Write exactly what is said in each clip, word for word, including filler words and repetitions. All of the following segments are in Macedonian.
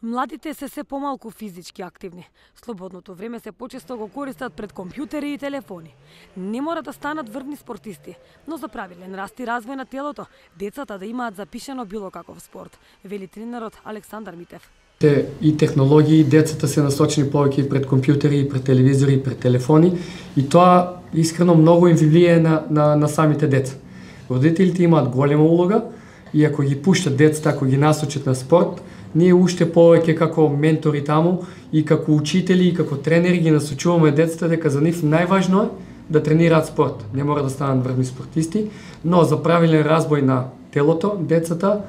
Младите се се помалку физички активни. Слободното време се почесто го користат пред компјутери и телефони. Не мора да станат врвни спортисти, но за правилен раст и развој на телото, децата да имаат запишано било каков спорт, вели тренерот Александар Митев. И технологии, децата се насочени повеќе пред компјутери, пред телевизори, пред телефони и тоа искрено многу им влијае на, на, на самите деца. Родителите имаат голема улога и ако ги пуштат децата, ако ги насочат на спорт, ние уште повеќе како ментори таму и како учители и како тренери ги насочуваме децата дека за нив најважно е да тренираат спорт. Не мора да станат врвни спортисти, но за правилен развој на телото, децата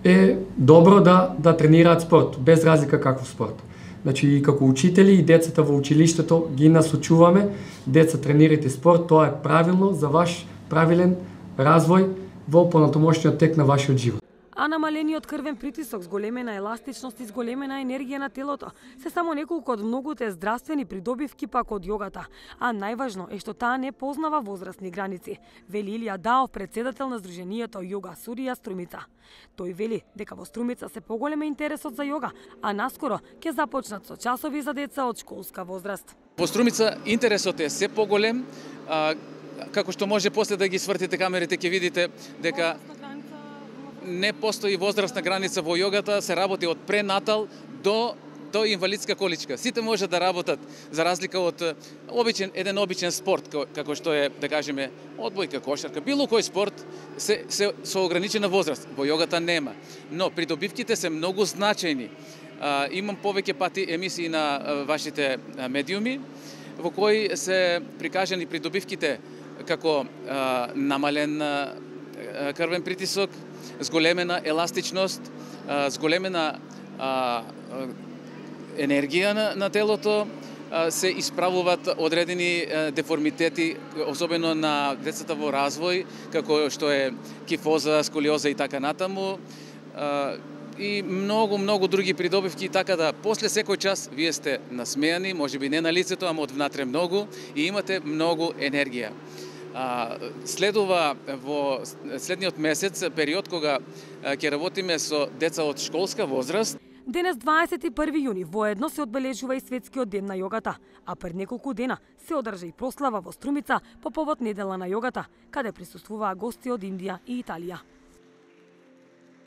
е добро да да тренираат спорт, без разлика каков спорт. Значи и како учители и децата во училиштето ги насочуваме, деца тренирате спорт, тоа е правилно за ваш правилен развој во понатомошниот тек на вашиот живот. А намалениот крвен притисок, зголемена еластичност и зголемена енергија на телото се само неколку од многуте здравствени придобивки пак од јогата, а најважно е што таа не познава возрастни граници, вели Илија Даов, председател на Сдруженијето Јога Сурија Струмица. Тој вели дека во Струмица се поголем интересот за јога, а наскоро ќе започнат со часови за деца од школска возраст. Во Струмица интересот е се поголем, а, како што може после да ги свртите камерите ќе видите дека не постои возрастна граница во јогата, се работи од пренатал до до инвалидска количка. Сите може да работат, за разлика од обичен еден обичен спорт како што е, да кажеме, одбојка, кошарка, било кој спорт се се со ограничена возраст. Во јогата нема, но придобивките се многу значајни. А, имам повеќе пати емисии на а, вашите а, медиуми во кои се прикажани придобивките како а, намален а, крвен притисок, зголемена еластичност, зголемена енергија на, на телото, се исправуваат одредени деформитети, особено на децата во развој, како што е кифоза, сколиоза и така натаму, и многу, многу други придобивки, така да после секој час вие сте насмејани, можеби не на лицето, ама од внатре многу, и имате многу енергија. Следува во следниот месец период кога ќе работиме со деца од школска возраст. Денес дваесет и први јуни воедно се одбележува и светскиот ден на јогата, а пред неколку дена се одржа и прослава во Струмица по повод недела на јогата, каде присуствуваа гости од Индија и Италија.